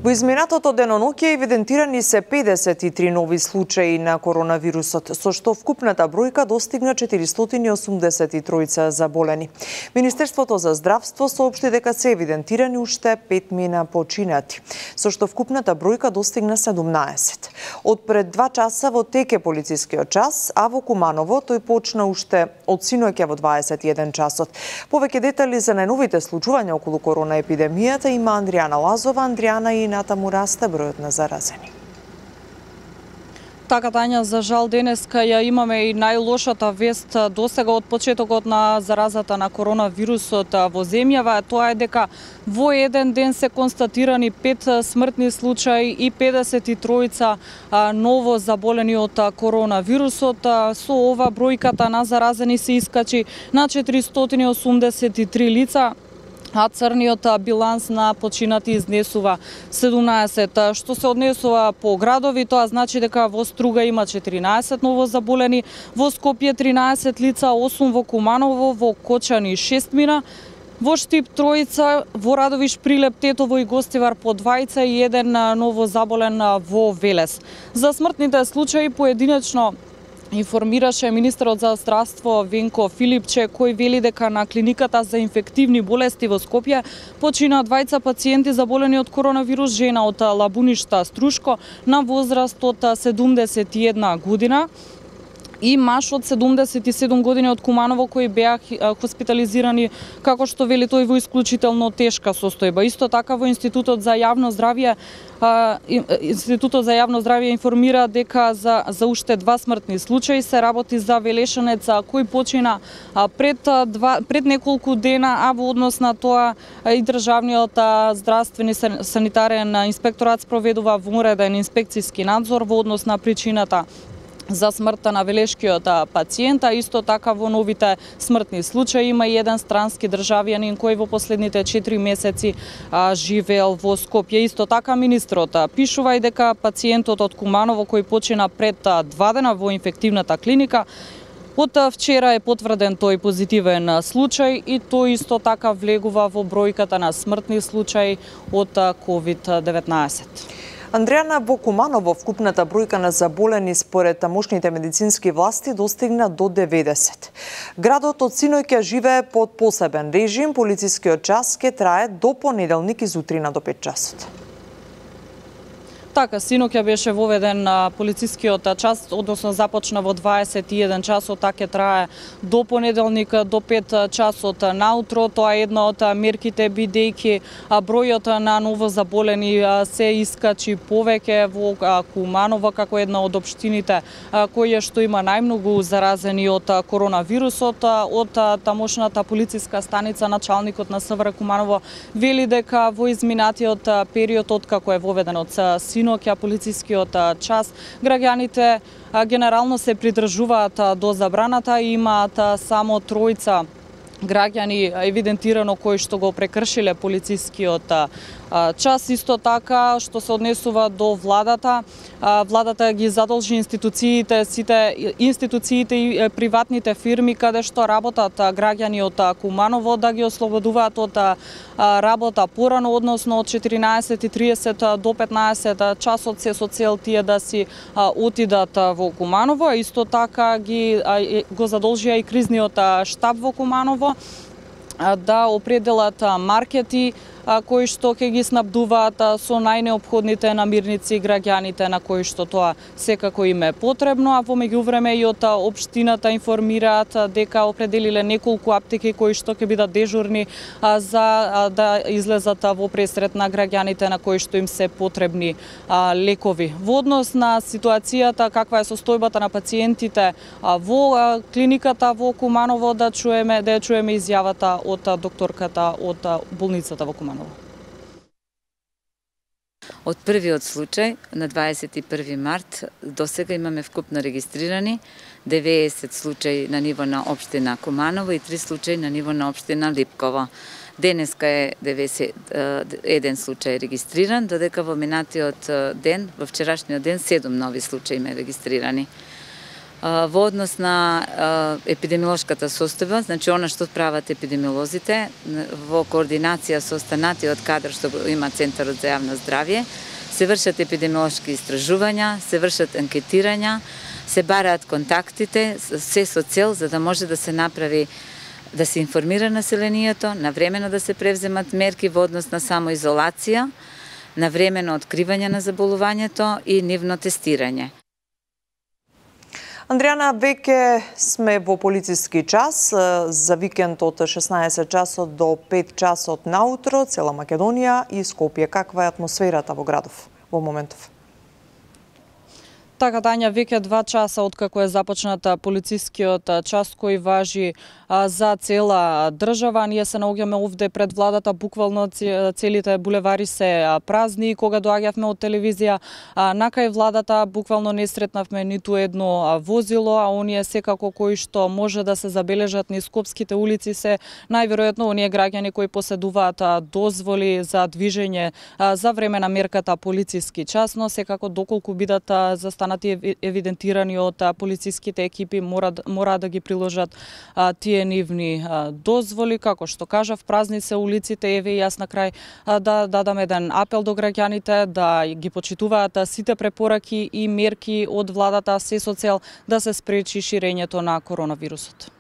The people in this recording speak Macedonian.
Во изминатото деноноќе евидентирани се 53 нови случаи на коронавирусот, со што вкупната бројка достигна 483 заболени. Министерството за здравство соопшти дека се евидентирани уште 5 мина починати, со што вкупната бројка достигна 17. Од пред 2 часа во тек е полицискиот час, а во Куманово тој почна уште од синоќа во 21 часот. Повеќе детали за најновите случувања околу корона епидемијата има Андријана Лазова. Андријана, и натаму расте бројот на заразени. Така, Тања, за жал денеска ја имаме и најлошата вест досега од почетокот на заразата на коронавирусот во земјава. Тоа е дека во еден ден се констатирани 5 смртни случаи и 53 ново заболени од коронавирусот. Со ова бројката на заразени се искачи на 483 лица, а црниот биланс на починати изнесува 17. Што се однесува по градови, тоа значи дека во Струга има 14 ново заболени, во Скопје 13 лица, 8 во Куманово, во Кочани 6 мина, во Штип 3, во Радовиш, Прилеп, Тетово и Гостивар по 2 и 1 ново заболен во Велес. За смртните случаи поединечно информираше министерот за здравство Венко Филипче, кој вели дека на клиниката за инфективни болести во Скопје почина 2 пациенти заболени од коронавирус, жена од Лабуништа, Струшко, на возраст од 71 година, и маж од 77 години од Куманово, кои беа хоспитализирани, како што вели тој, во исклучително тешка состојба. Исто така во Институтот за јавно здравје информира дека за уште 2 смртни случаи се работи за велешанец кој почина пред неколку дена, а во однос на тоа и државниот здравствени санитарен инспекторат спроведува вонреден инспекцијски надзор во однос на причината за смртта на велешкиот пациент. Исто така во новите смртни случаи има и еден странски државјанин кој во последните 4 месеци живеел во Скопје. Исто така министрот пишува и дека пациентот од Куманово кој почина пред 2 дена во инфективната клиника, од вчера е потврден тој позитивен случај и тој исто така влегува во бројката на смртни случаи од COVID-19. Андријана, во Куманово вкупната бројка на заболени според тамошните медицински власти достигна до 90. Градот од синоќа живее под посебен режим, полицискиот час ќе трае до понеделник изутрина до 5 часот. Така, синоќа беше воведен полицискиот час, односно започна во 21 часот, така ќе трае до понеделник до 5 часот наутро. Тоа е една од мерките, бидејќи бројот на ново заболени се искачи повеќе во Куманово, како една од општините која што има најмногу заразени од коронавирусот. Од тамошната полициска станица началникот на СВР Куманово вели дека во изминатиот период откако е воведен од синоќа полицискиот час, граѓаните генерално се придржуваат до забраната и имаат само 3 граѓани евидентирано кои што го прекршиле полицискиот час. Исто така, што се однесува до владата, владата ги задолжи сите институциите и приватните фирми каде што работат граѓани од Куманово да ги ослободуваат од работа порано, односно од 14:30 до 15 часот, се со цел тие да си отидат во Куманово. Исто така го задолжија и кризниот штаб во Куманово да определат маркети кои што ќе ги снабдуваат со најнеопходните намирници граѓаните на кои што тоа секако им е потребно, а во меѓувреме и од општината информираат дека определиле неколку аптеки кои што ќе бидат дежурни за да излезат во пресрет на граѓаните на кои што им се потребни лекови. Во однос на ситуацијата, каква е состојбата на пациентите во клиниката во Куманово, да ја чуеме изјавата од докторката од болницата во Куманово. Од првиот случај на 21 март до сега имаме вкупно регистрирани 90 случаи на ниво на општина Куманово и 3 случаи на ниво на општина Липково. Денеска е 91 случај регистриран, додека во минатиот ден, во вчерашниот ден, 7 нови случаи ме регистрирани. Во однос на епидемиолошката состојба, значи она што прават епидемиолозите, во координација со останатиот кадар што има Центарот за јавно здравје, се вршат епидемиолошки истражувања, се вршат анкетирања, се бараат контактите, се со цел за да може да се направи, да се информира населението, навремено да се превземат мерки во однос на самоизолација, навремено откривање на заболувањето и нивно тестирање. Андријана, веќе сме во полициски час, за викенд од 16 часот до 5 часот наутро, цела Македонија и Скопје. Каква е атмосферата во градов во моментов? Така, Тања, веќе 2 часа откако е започната полицискиот час кој важи за цела држава. Ние се наоѓаме овде пред владата, буквално целите булевари се празни. Кога доаѓавме од телевизија накај владата, буквално не сретнавме ниту едно возило, а оние секако кои што може да се забележат низ скопските улици се најверојатно оние граѓани кои поседуваат дозволи за движење за време на мерката полициски час, но секако доколку бидат застанати евидентирани од полициските екипи, мора да ги приложат тие нивни дозволи. Како што кажав, празни се улиците, еве и јас на крај да дадам еден апел до граѓаните да ги почитуваат сите препораки и мерки од владата, се со цел да се спречи ширењето на коронавирусот.